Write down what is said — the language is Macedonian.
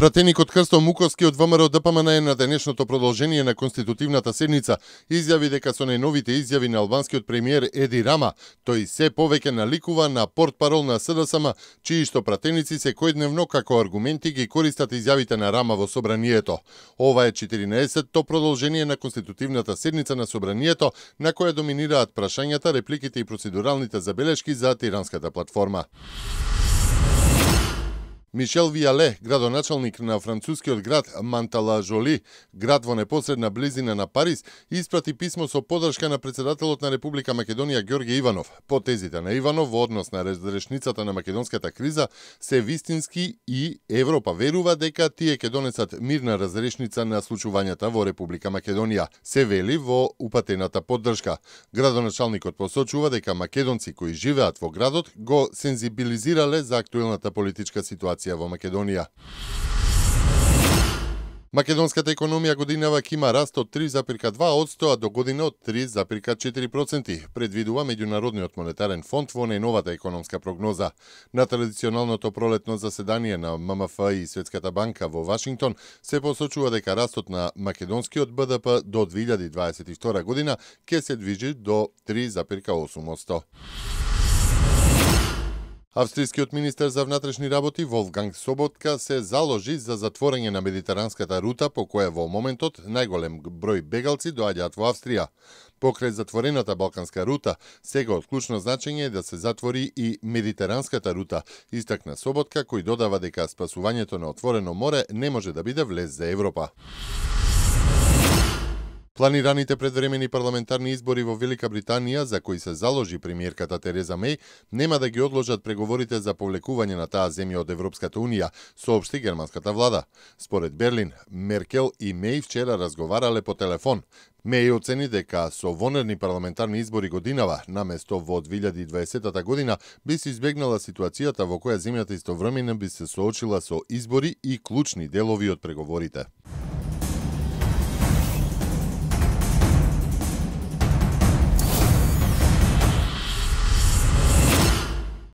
Пратеникот Крсто Муковски од ВМРО ДПМН на денешното продолжение на конститутивната седница изјави дека со најновите изјави на албанскиот премиер Еди Рама, тој се повеќе наликува на портпарол на СДСМ, чии што пратеници секојдневно како аргументи ги користат изјавите на Рама во собранието. Ова е 14-то продолжение на конститутивната седница на собранието, на која доминираат прашањата, репликите и процедуралните забелешки за тиранската платформа. Мишел Вијале, градоначалник на францускиот град Манталажоли, град во непосредна близина на Париз, испрати писмо со поддршка на председателот на Република Македонија Ѓорѓе Иванов. По тезите на Иванов во однос на разрешницата на македонската криза се вистински и Европа верува дека тие ќе донесат мирна разрешница на случувањата во Република Македонија, се вели во упатената поддршка. Градоначалникот посочува дека македонци кои живеат во градот го сензибилизирале за актуелната политичка ситуација во Македонија. Македонската економија годинава ќе има раст од 3,2%, а до година од 3,4%, предвидува Меѓународниот монетарен фонд во најновата економска прогноза. На традиционалното пролетно заседание на ММФ и Светската банка во Вашингтон се посочува дека растот на македонскиот БДП до 2022 година ќе се движи до 3,8%. Австријскиот министер за внатрешни работи Волфганг Соботка се заложи за затворање на медитеранската рута по која во моментот најголем број бегалци доаѓаат во Австрија. Покрај затворената балканска рута, сега од клучно значење е да се затвори и медитеранската рута, истакна Соботка, кој додава дека спасувањето на отворено море не може да биде влез за Европа. Планираните предвремени парламентарни избори во Велика Британија, за кои се заложи премиерката Тереза Меј, нема да ги одложат преговорите за повлекување на таа земја од Европската Унија, соопшти германската влада. Според Берлин, Меркел и Меј вчера разговарале по телефон. Меј оцени дека со вонерни парламентарни избори годинава, наместо во 2020 година, би се избегнала ситуацијата во која земјата истовремено би се соочила со избори и клучни делови од преговорите.